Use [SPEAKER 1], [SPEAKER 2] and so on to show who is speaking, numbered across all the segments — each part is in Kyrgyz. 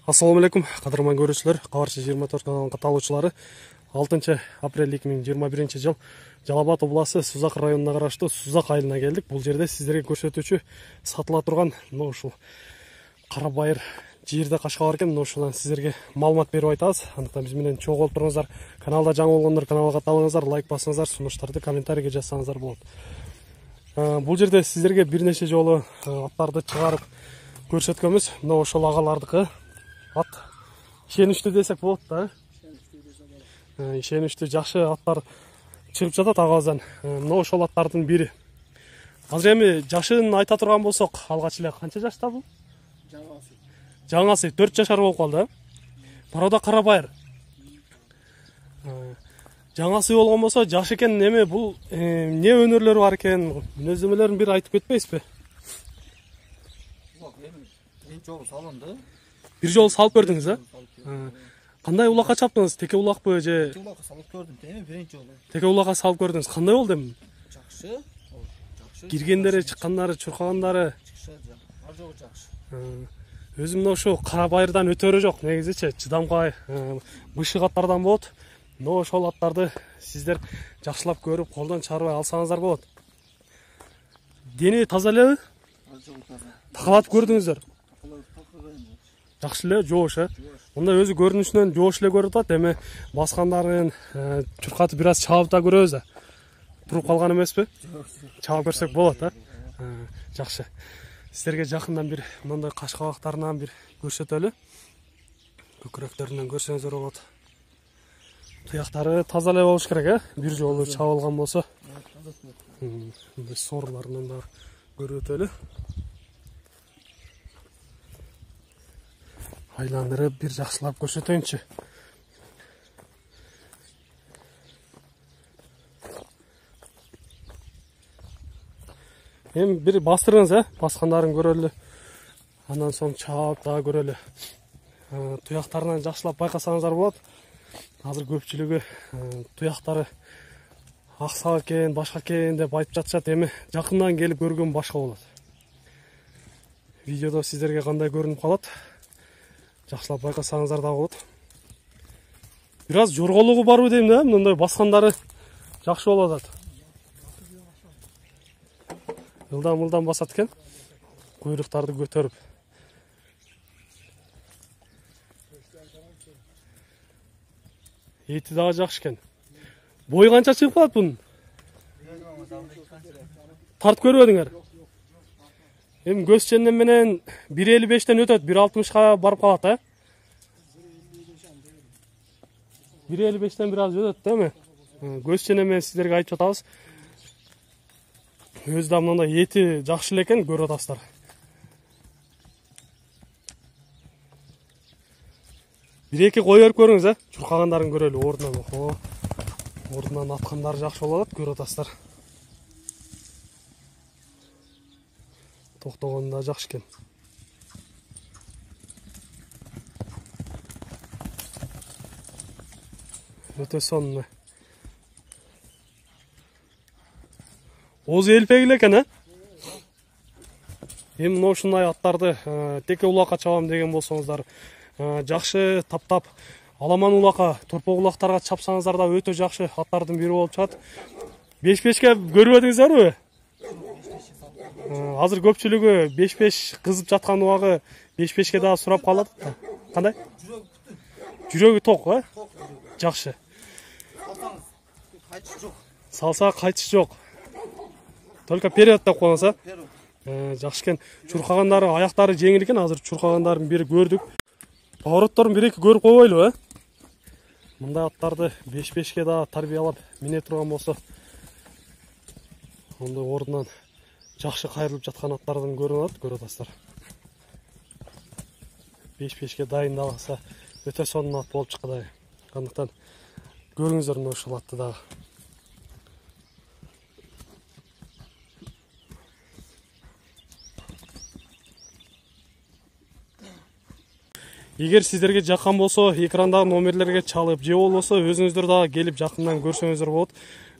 [SPEAKER 1] Assalamu alaikum, qadrman görүүчүлөр, Кабарчы 24 каналынын катталуучулары. 6 апрель 2021 жыл Жалал Абад областы Сузак районуна караштуу Сузак айылына келдик. Бул жерде сиздерге көрсөтүүчү сатыла турган ушул кара байыр жерде кашка бар экен. Ушундан сиздерге маалымат берип айтабыз. Андыктан биз менен чогуу болуп туруңуздар. Каналда жаңы болгондор каналга катталыңыздар, лайк басыңыздар, сунуштарды комментарийге жазсаңыздар болот. Бул жерде сиздерге бир нече жолу аттарды чыгарып көрсөткөнбүз. Мына ошол агалардыкы ат ишеничтүү десек болот да. Ишеничтүү жакшы аттар чыгып жатат агабыздан. Мына ошол аттардын бири. Азыр эми жашын айта турган болсок, алгач эле канча жашта бул? Жаңасы 4 жашар болуп калды. Барода кара байыр. Жаңасы болгон болсо жаш экен, эме бул эмне өнөрлөрү бар экен? Мүнөздөмөлөрүн бир айтып кетпейсизби?
[SPEAKER 2] Биринчи жолу салынды.
[SPEAKER 1] Бир жолу салып көрдүңүз, а? Кандай улакка чаптыңыз? Теке улакпы же?
[SPEAKER 2] Теке улакка салып көрдүм, эми биринчи жолу.
[SPEAKER 1] Теке улакка салып көрдүңүз. Кандай болду эми?
[SPEAKER 2] Жакшы. Жакшы.
[SPEAKER 1] Киргендери, чыккандары, чуркагандары.
[SPEAKER 2] Ар жогу жакшы.
[SPEAKER 1] Өзүм мына ошо кара байырдан өтөрү жок, негизичи чыдамкай бышык аттардан болот. Но ошол аттарды сиздер жакшылап көрүп, колдон чыгарбай алсаңыздар болот. Дени таза элеби?
[SPEAKER 2] Ар жогу таза.
[SPEAKER 1] Такалатып көрдүңүздөр? Жакшы эле, жоош, Мында өзү көрүнүшүнөн жоош эле көрүп атат. Эми баскандарын чуркатып бир аз чабып да көрөбүз да. Туруп калган эмеспи? Чабып көрсөк болот, Жакшы. Сиздерге жакындан бир мындай каш кабактарынан бир көрсөтөлү. Көкүрөктөрүнөн көрсөңүздөр болот. Туяктары таза эле болуш керек, Бир жолу чабылган болсо. Мындай сорларынан да көрүп өтөлү. Айландырып бир жакшылап көрсөтөйүнчү. Эми бир бастырыңыз, баскандарын көрөлү. Андан соң чаап да көрөлү. Туяктарынан жакшылап байкасаңыздар болот. Азыр көпчүлүгү туяктары аксак экен, башка экен деп айтып жатышат. Эми жакындан келип көргөн башка болот. Видеодо сиздерге кандай көрүнүп калат? Жакшылап байкасаңыздар да болот. Бир аз жорголугу барбы дейм да, мындай баскандары жакшы болуп атат. Ылдам басат экен. Куйруктарды көтөрүп. Эти дагы жакшы экен. Бой канча чыгып калат бунун? Тартып көрбөдүңөр? Эми көз ченем менен 1.55-тен өтөт, 1.60-га барып калат, 1.55-тен бир аз өтөт, эми. Көз ченем менен сиздерге айтып жатабыз. Өзү да мындай эти жакшы эле экен, көрүп атасыздар. Бир-эки кой берип көрүңүз, чуркагандарын көрөлү ордунан. Ордунан аткандары жакшы болуп атат, көрүп атасыздар. Токтогонда жакшы экен. Өтө сонун. Оозу элпек эле экен, Эми мына ушундай аттарды теке улакка чабам деген болсоңуздар, жакшы таптап, аламан улакка, торпок улактарга чапсаңыздар да өтө жакшы аттардын бири болуп чыгат. 5-5ке көрбөдүңүздөрбү? Азыр көпчүлүгү 5-5 кызып жаткан убагы 5-5ке дагы сурап калат. Кандай? Жүрөгү ток, Жакшы. Салса кайтыш жок. Только вперед деп коесуң, Жакшы экен. Чуркагандары, аяктары жеңил экен. Азыр чуркагандарын бири көрдүк. Поворотторун бир-эки көрүп койбойлу, Мындай аттарды 5-5ке дагы тарбиялап мине турган болсо, онда ордунан жакшы кайрылып жаткан аттардан көрүп атасыздар. 5-5ке дайындалса өтө сонун ат болуп чыкты. Андыктан көрүңүздөр мына ушул атты дагы. Эгер сиздерге жаккан болсо, экрандагы номерлерге чалып, же болбосо өзүңүздөр дагы келип жакындан көрсөңүздөр болот.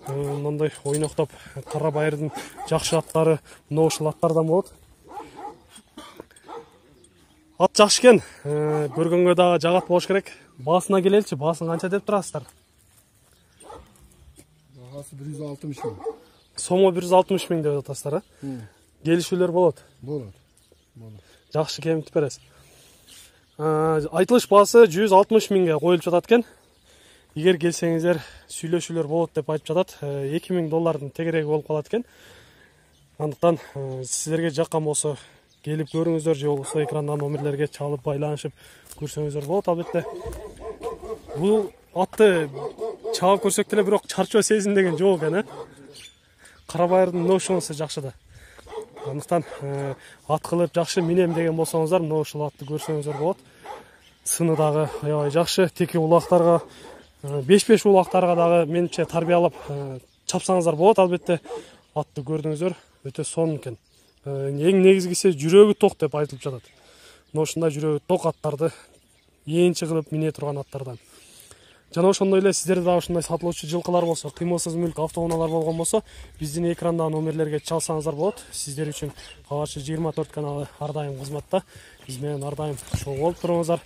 [SPEAKER 1] Мындай ойноктоп кара байырдын жакшы аттары мына ушул аттардан болот. Ат жакшы экен. Көргөнгө дагы жагат болуш керек. Баасына келеличи. Баасын канча деп турасыздар?
[SPEAKER 3] Бағасы 160 мың.
[SPEAKER 1] Сомо 160 миң деп атасыздар, Келишүүлөр болот.
[SPEAKER 3] Болады.
[SPEAKER 1] Жакшы кемитип бересиз. Айтылыш баасы 160 миңге коюлуп жатат экен. Эгер келсеңиздер, сүйлөшүүлөр болот деп айтып жатат. $2000 тегереги болуп калат экен. Андыктан сиздерге жаккан болсо келип көрүңүздөр, же болбосо экрандан номерлерге чалып байланышып көрсөңүздөр болот. Албетте бул атты чаап көрсөк деле бирок чарчоо сезиндеген жок экен, Карабайырдын ношонусу жакшы да. Андыктан ат кылып жакшы минем деген болсоңуздар, мына ушул атты көрсөңүздөр болот. Сыны дагы аябай жакшы, теке улактарга, 5-5 улактарга дагы менимче тарбиялап чапсаңыздар болот. Албетте атты көрдүңүздөр, өтө сонун экен. Эң негизгиси жүрөгү ток деп айтылып жатат. Мына ушундай жүрөгү ток аттарды ээңчи кылып мине турган аттардан. Жана ошондой эле сиздерде дагы ушундай сатылуучу жылкылар болсо, кыймылсыз мүлк автоунаалар болгон болсо, биздин экрандагы номерлерге чалсаңыздар болот. Сиздер үчүн Кабарчы 24 каналы ар дайым кызматта. Биз менен ар дайым чогуу болуп туруңуздар.